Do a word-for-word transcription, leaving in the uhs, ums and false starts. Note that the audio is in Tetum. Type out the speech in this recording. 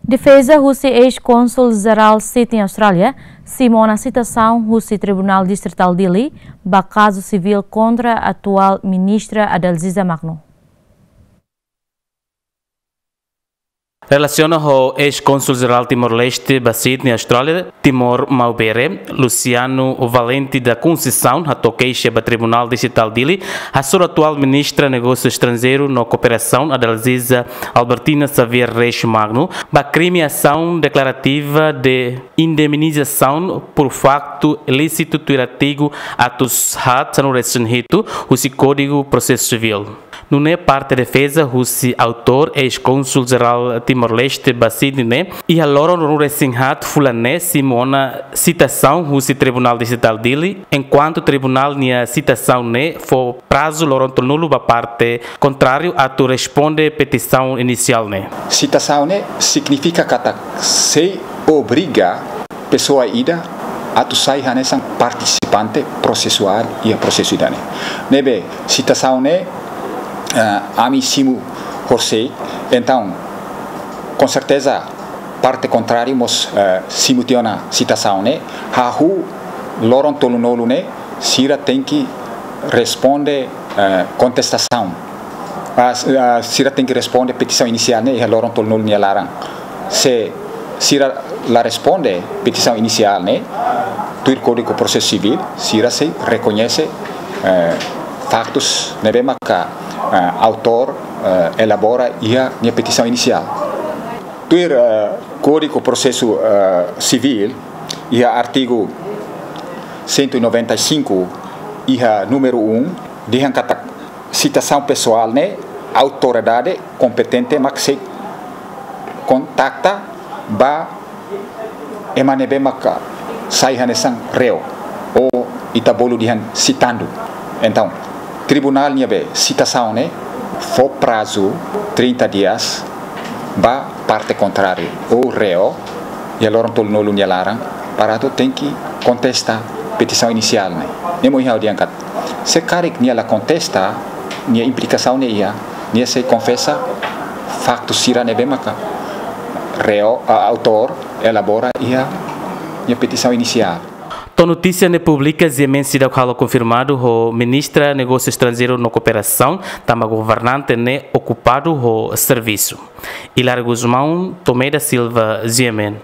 Defeza husi eis-kónsul jerál Sydney, Austrália, simu ona sitasaun husi Tribunál Distritál Dili ba kazu sivíl kontra atuál ministra Adalziza Magno. Relasiona ho eis-kónsul jerál Timor-Leste ba Sydney, Austrália, Timor Maubere, Luciano Valente da Conceição, hato'o keixa ba Tribunál Distritál Dili hasoru atuál ministra Negósiu Estranjeiru no Kooperasaun, Adalziza Albertina Xavier Reis Magno, ba krime asaun deklarativa de indemnizasaun por faktu ilísitu tuir artigu atus haat sanulu-resin-hitu husi Kódigu Prosesu Sivíl. Nune'e parte defeza husi autór, eis-kónsul jerál Timor-Leste ba Sydney ne'e, iha loron ruanulu-resin-haat fulan ne'e simu ona sitasaun husi Tribunál Distritál Dili, enkuantu tribunál nia sitasaun ne'e fó prazu loron tolunulu ba parte kontráriu atu responde petisaun inisiál ne'e. Sitasaun ne'e signifika katak sei obriga pesoa ida atu sai hanesan partisipante prosesuál iha prosesu ida-ne'e. Ne'ebé sitasaun ne'e, eh, ami simu horisehik, entaun, konserteza, parte kontráriu mós, eh, simu tiha ona sitasaun ne'e, hahú loron tolunulu ne'e, sira tenke responde, eh, kontestasaun. Ah, s-, ah, sira tenke responde petisaun inisiál ne'e iha loron tolunulu nia laran. Se sira la responde petisaun inisiál ne'e, tuir Kódigu Prosesu Sivíl, sira sei rekoñese, eh, faktus ne'ebé maka, eh, autór, eh, elabora iha nia petisaun inisiál. Tuir, eh, Kódigu Prosesu, eh, Sivíl, iha artigu cento e noventa e cinco, iha númeru um, dehan katak sitasaun pesoál ne'e autoridade kompetente mak sei kontakta ba ema ne'ebé maka sai hanesan réu, ou ita bolu dehan sitandu. Entaun, tribunál nia be sitasaun ne'e fó prazu trinta dias ba parte kontráriu ou réu iha loron tolunulu nia laran para atu tenke kontesta petisaun inisiál ne'e. Ne'e mak ha'u dehan katak, se karik nia la kontesta, nia implikasaun ne'e iha, nia sei konfesa faktu sira ne'ebé maka réu, ah, autór elabora iha nia petisaun inisiál. To'o notísia ne'e publika, Ziemen seidauk halo konfirmadu ho Ministra Negósiu Estranjeiru no Kooperasaun, tanba governante ne'e okupadu ho servisu. Hilário Gusmão, Tomé da Silva, Ziemen.